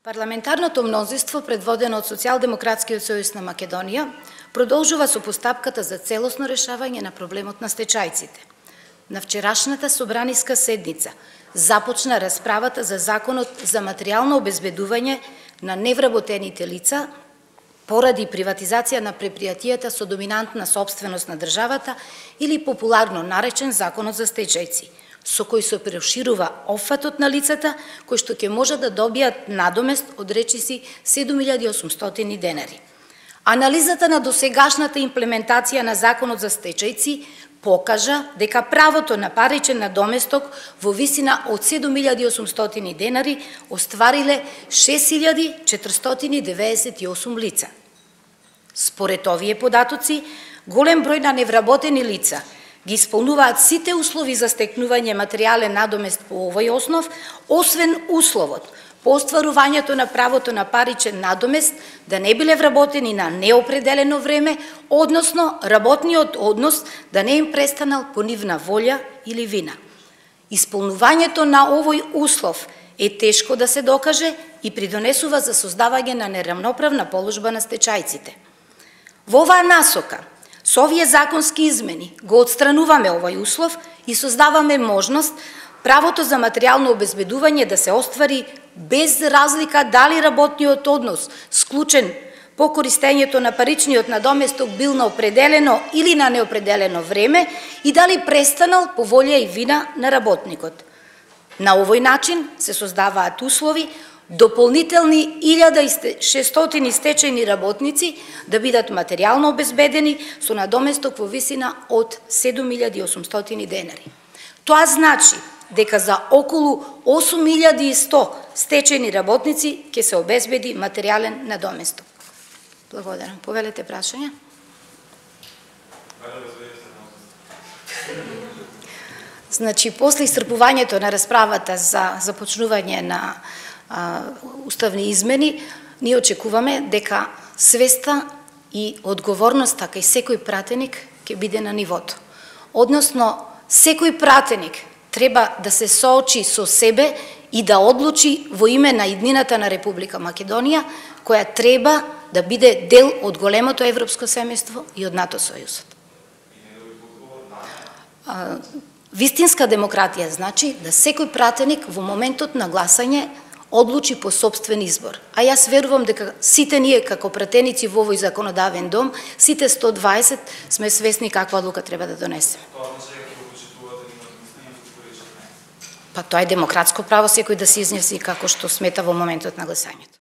Парламентарното мнозинство, предводено од Социјалдемократскиот сојуз на Македонија, продолжува со постапката за целосно решавање на проблемот на стечајците. На вчерашната собраниска седница започна расправата за Законот за материјално обезбедување на невработените лица поради приватизација на предпријатијата со доминантна сопственост на државата или популарно наречен Законот за стечајци, со кој се проширува опфатот на лицата кои што ќе можат да добијат надомест од речиси 7800 денари. Анализата на досегашната имплементација на Законот за стечајци покажа дека правото на паричен надоместок во висина од 7800 денари оствариле 6498 лица. Според овие податоци, голем број на невработени лица ги исполнуваат сите услови за стекнување материјален надомест по овој основ, освен условот по остварувањето на правото на паричен надомест да не биле вработени на неопределено време, односно работниот однос да не им престанал по нивна волја или вина. Исполнувањето на овој услов е тешко да се докаже и придонесува за создавање на неравноправна положба на стечајците. Во оваа насока, со овие законски измени го отстрануваме овој услов и создаваме можност правото за материјално обезбедување да се оствари без разлика дали работниот однос склучен по користењето на паричниот надоместок бил на определено или на неопределено време и дали престанал по волја и вина на работникот. На овој начин се создаваат услови дополнителни 1600 стечајни работници да бидат материјално обезбедени со надоместок во висина од 7800 денари. Тоа значи дека за околу 8100 стечајни работници ќе се обезбеди материјален надоместок. Благодарам. Повелете прашања? Значи, после исцрпувањето на расправата за започнување на уставни измени, ние очекуваме дека свеста и одговорноста кај секој пратеник ќе биде на нивото. Односно, секој пратеник треба да се соочи со себе и да одлучи во име на иднината на Република Македонија, која треба да биде дел од големото европско семејство и од НАТО сојузот. Вистинска демократија значи да секој пратеник во моментот на гласање одлучи по сопствен избор. А јас верувам дека сите ние како пратеници во овој законодавен дом, сите 120 сме свесни каква одлука треба да донесеме. Па тоа е демократско право секој да се изнеси како што смета во моментот на гласањето.